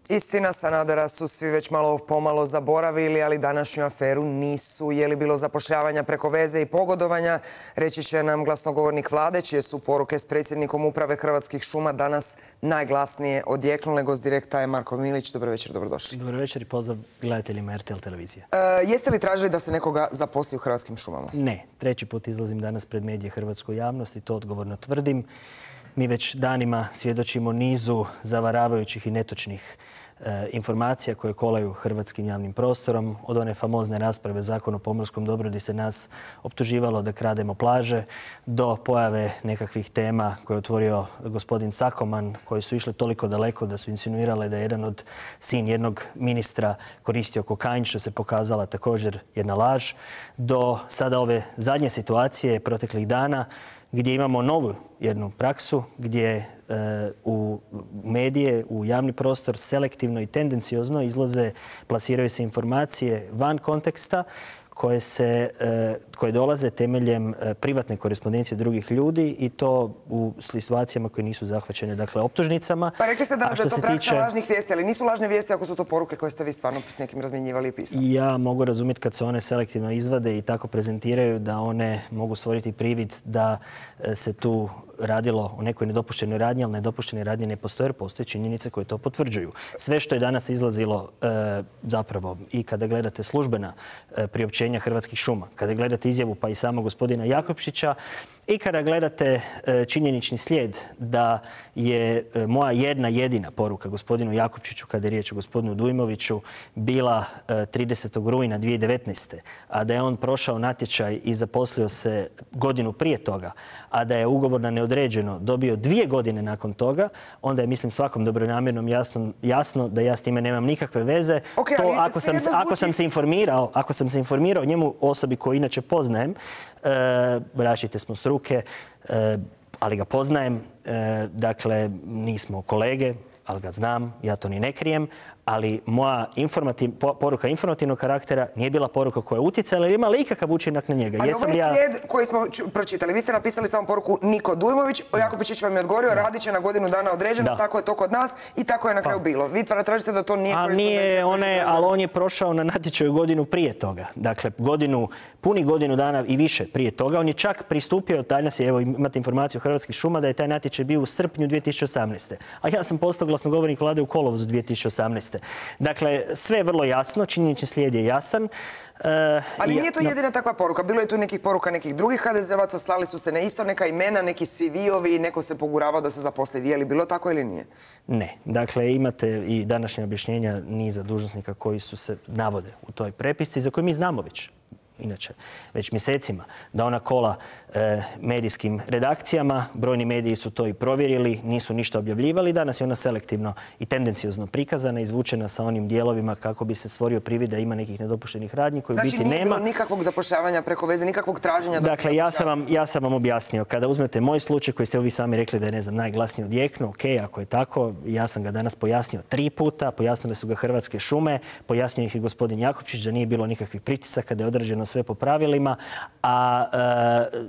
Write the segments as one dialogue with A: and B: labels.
A: Istina, Sanadera su svi već malo pomalo zaboravili, ali današnju aferu nisu. Je li bilo zapošljavanja preko veze i pogodovanja? Reći će nam glasnogovornik vlade, čije su poruke s predsjednikom uprave Hrvatskih šuma danas najglasnije odjeknule. Gost direkta je Marko Milić. Dobro večer, dobrodošli.
B: Dobro večer i pozdrav gledateljima RTL televizije.
A: Jeste li tražili da se nekoga zaposli u Hrvatskim šumama?
B: Ne. Treći put izlazim danas pred medije hrvatskoj javnosti, to odgovorno tvrdim. Mi već danima svjedočimo nizu zavaravajućih i netočnih informacija koje kolaju hrvatskim javnim prostorom. Od one famozne rasprave Zakon o pomorskom dobru gdje se nas optuživalo da krademo plaže, do pojave nekakvih tema koje je otvorio gospodin Sakoman, koji su išle toliko daleko da su insinuirale da je jedan sin jednog ministra koristio kokain, što se pokazala također jedna laž, do sada ove zadnje situacije proteklih dana gdje imamo novu jednu praksu gdje u medije, u javni prostor selektivno i tendenciozno izlaze, plasiraju se informacije van konteksta koje dolaze temeljem privatne korespondencije drugih ljudi i to u situacijama koje nisu zahvaćene, dakle, optužnicama.
A: Pa rekli ste da je to praksa lažnih vijesti, ali nisu lažne vijesti ako su to poruke koje ste vi stvarno s nekim razmjenjivali i pisali?
B: Ja mogu razumjeti kad se one selektivno izvade i tako prezentiraju da one mogu stvoriti privid da se tu radilo o nekoj nedopuštenoj radnji, ali nedopuštene radnje ne postoje jer postoje činjenice koje to potvrđuju. Sve što je danas izlazilo zapravo i kada gledate službena priopćenja Hrvatskih šuma, kada gledate izjavu pa i samog gospodina Jakopčića i kada gledate činjenični slijed da je moja jedna jedina poruka gospodinu Jakopčiću kada je riječ o gospodinu Dujmoviću bila 30. rujna 2019. a da je on prošao natječaj i zaposlio se godinu prije toga, a da je ugovor na neodređeno dobio 2 godine nakon toga, onda je, mislim, svakom dobronamjernom jasno da ja s time nemam nikakve veze. Ako sam se informirao o njemu, osobi koju inače poznajem, različite smo struke, ali ga poznajem, dakle, nismo kolege, ali ga znam, ja to ni ne krijem, ali moja poruka informativnog karaktera nije bila poruka koja je utjecala ili imala ikakav učinak na njega.
A: Ali ovo je slijed koji smo pročitali. Vi ste napisali samo poruku Niko Dujmović, Jakopčić vam je odgovorio, radit će na godinu dana određeno, tako je to kod nas i tako je na kraju bilo. Vi tražite da to nije korespondencija.
B: Ali on je prošao na natječaju godinu prije toga. Dakle, punih godinu dana i više prije toga. On je čak pristupio, danas je, evo imate informaciju Hrvatskih šuma, da je taj natječaj bio u srpnju 2018. A ja sam postao glasnogovornik vlade u kolovozu 2018. Dakle, sve je vrlo jasno, činjenični slijed je jasan.
A: Ali nije to jedina takva poruka. Bilo je tu nekih poruka nekih drugih HDZ-ovaca, slali su se na isto neka imena, neki CV-ovi i neko se poguravao da se zaposli. Je li bilo tako ili nije?
B: Ne. Dakle, imate i današnje objašnjenja niza dužnosnika koji su se navode u toj prepisci, za koju mi znamo već mjesecima, da ona kola medijskim redakcijama. Brojni mediji su to i provjerili, nisu ništa objavljivali. Danas je ona selektivno i tendenciozno prikazana, izvučena sa onim dijelovima kako bi se stvorio privid da ima nekih nedopuštenih radnji koji biti nema.
A: Znači nije bilo nikakvog zapošljavanja preko veze, nikakvog traženja da se zapošljava?
B: Dakle, ja sam vam objasnio. Kada uzmete moj slučaj koji ste vi sami rekli da je, ne znam, najglasniji odjeknuo, ok, ako je tako, ja sam ga danas pojasnio 3 puta, pojasnile su ga Hrvatske šume, pojasnio ih i gospodin Jakopčić da nije bilo nikakvih pritisaka, da je određeno sve po pravilima,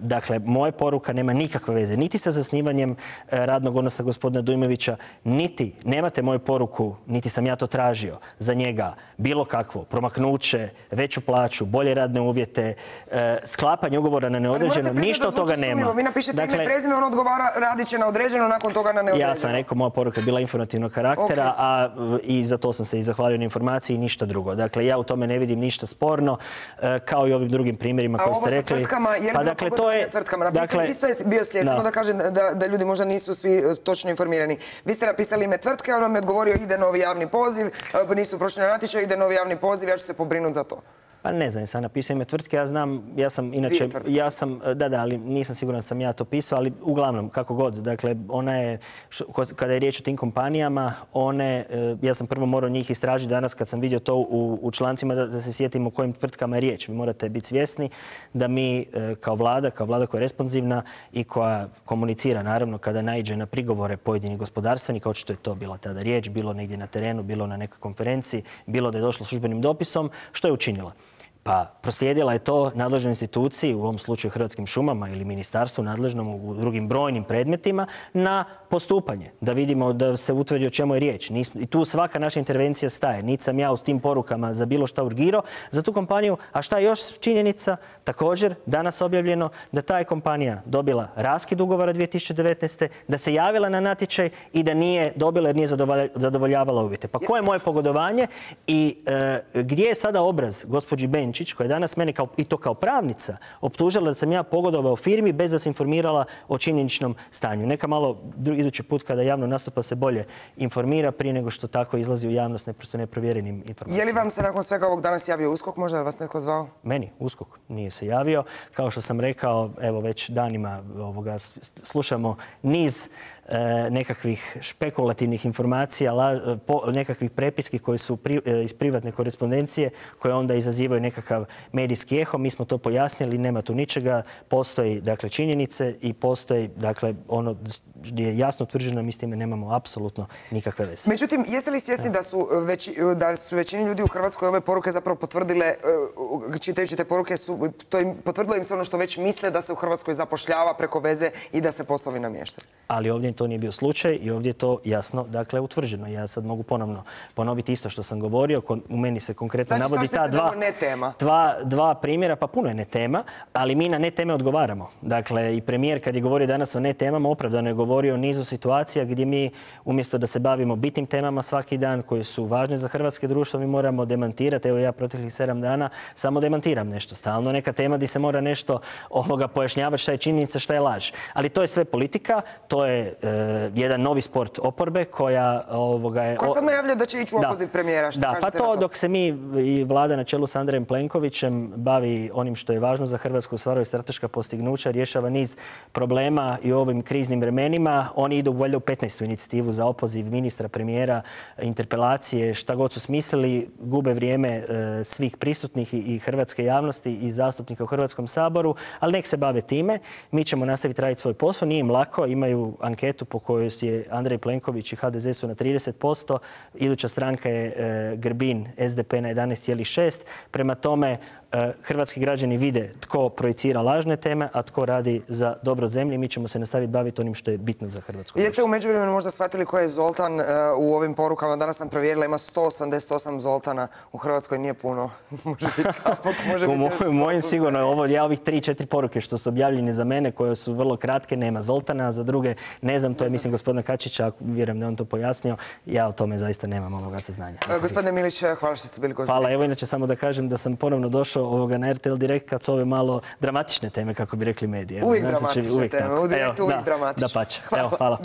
B: dakle, moja poruka nema nikakve veze niti sa zasnivanjem radnog odnosa gospodina Dujmovića, niti nemate moju poruku, niti sam ja to tražio za njega, bilo kakvo promaknuće, veću plaću, bolje radne uvjete, sklapanje ugovora na neodređeno, ništa od toga nema.
A: Vi napišete ime i prezime, on odgovara, radit će na određeno, nakon toga na neodređeno.
B: Ja sam rekao, moja poruka je bila informativnog karaktera, i za to sam se i zahvalio na informaciji i ništa drugo. Dakle, ja u tome ne vidim ništa sporno, kao i ovim drugim primjerima koje ste rekli.
A: A ovo sa tvrtkama, je li bilo pogodovanje tvrtkama? Napisali, isto je bio slijed, samo da kažem da ljudi možda nisu svi točno informirani. Vi ste napisali ime tvrtke, on vam je odgovorio ide novi javni poziv, nisu prošli na natječaj, ide novi javni poziv, ja ću se pobrinuti za to.
B: Pa ne znam, sam napisao ime tvrtke, ali nisam siguran da sam ja to pisao, ali uglavnom, kako god. Dakle, ona je, kada je riječ o tim kompanijama, ja sam prvo morao njih istražiti danas kad sam vidio to u člancima da se sjetim o kojim tvrtkama je riječ. Vi morate biti svjesni da mi kao vlada koja je responsivna i koja komunicira, naravno, kada naiđe na prigovore pojedinih gospodarstvenika, očito je to bila tada riječ, bilo negdje na terenu, bilo na nekoj konferenciji, bilo da je došlo službenim dopisom, što je učinila? Pa proslijedila je to nadležnoj instituciji, u ovom slučaju Hrvatskim šumama ili ministarstvu nadležnom u drugim brojnim predmetima, na postupanje, da vidimo da se utvrdi o čemu je riječ. I tu svaka naša intervencija staje. Niti sam ja u tim porukama za bilo šta urgirao za tu kompaniju. A šta je još činjenica? Također, danas objavljeno da ta je kompanija dobila raskid ugovora 2019. da se javila na natječaj i da nije dobila jer nije zadovoljavala uvjete. Pa koje je moje pogodovanje i gdje je sada obraz gospođi Benčić, koja je danas mene i to kao pravnica optužila da sam ja pogodovao firmi bez da se informirala o činjeničnom stanju. Neka malo idući put kada javno nastupa se bolje informira prije nego što tako izlazi u javnost neprovjerenim informacijama.
A: Je li vam se nakon svega ovog danas javio USKOK? Možda je vas netko zvao?
B: Meni USKOK nije se javio. Kao što sam rekao, evo već danima slušamo niz nekakvih špekulativnih informacija, nekakvih prepiski koji su iz privatne korespondencije koje onda izazivaju nekakav medijski eho. Mi smo to pojasnili, nema tu ničega. Postoji dakle činjenice i postoji dakle ono gdje je jasno utvrđeno, mi s time nemamo apsolutno nikakve veze.
A: Međutim, jeste li svjesni da su većini ljudi u Hrvatskoj ove poruke zapravo potvrdile, čitajući te poruke, potvrdilo im se ono što već misle, da se u Hrvatskoj zapošljava preko veze i da se poslovi namještaju?
B: Ali ovdje to nije bio slučaj i ovdje je to jasno dakle utvrđeno. Ja sad mogu ponovno ponoviti isto što sam govorio. U meni se konkretno navodi ta dva primjera, pa puno je ne tema, ali mi na ne teme odgovaramo. Dakle, i premijer kad je govorio danas o ne temama, opravdano je govorio o nizu situacija gdje mi umjesto da se bavimo bitnim temama svaki dan koje su važne za hrvatske društvo, mi moramo demantirati. Evo ja proteklih 7 dana samo demantiram nešto. Stalno neka tema gdje se mora nešto pojašnjavati šta je činjenica, šta je laž. Ali to je sve politika, to je jedan novi sport oporbe koja
A: Ko sad najavlja da će ići u opoziv premijera?
B: Da, pa to dok se mi i vlada na čelu s Andrejem Plenkovićem bavi onim što je važno za Hrvatsku, ostvaruje strateška postignuća, rješava niz problema i u ovim kriznim vremenima. Oni idu valjda u 15. inicijativu za opoziv ministra, premijera, interpelacije, šta god su smislili, gube vrijeme svih prisutnih i hrvatske javnosti i zastupnika u Hrvatskom saboru, ali nek se bave time. Mi ćemo nastaviti raditi svoj posao, nije im lako, imaju anketu po kojoj je Andrej Plenković i HDZ su na 30%, iduća stranka je Grbin, SDP na 11,6%. Prema tome, hrvatski građani vide tko projicira lažne teme, a tko radi za dobro zemlje. Mi ćemo se nastaviti baviti onim što je bitno za Hrvatsku.
A: Jeste u međuvremenu možda shvatili ko je Zoltan u ovim porukama? Danas sam provjerila, ima 188 Zoltana. U Hrvatskoj nije puno. Može biti kapok, može biti još 100.
B: Mojim sigurno, ja ovih 3-4 poruke što su objavljene za mene, koje su vrlo kratke, nema Zoltana, a za druge ne znam, to je mislim gospodina Kačića, vjerujem da je on to pojasnio. Ja o tome zaista nemam ovoga saznanja.
A: Gospodine Milić, hvala što ste bili gost.
B: Hvala, evo inače samo da kažem da sam ponovno došao na RTL Direkt kad su ove malo dramatične teme, kako bi rekli mediji.
A: Uvijek dramatične teme, u Direktu uvijek dramatične.
B: Da pače. Hvala.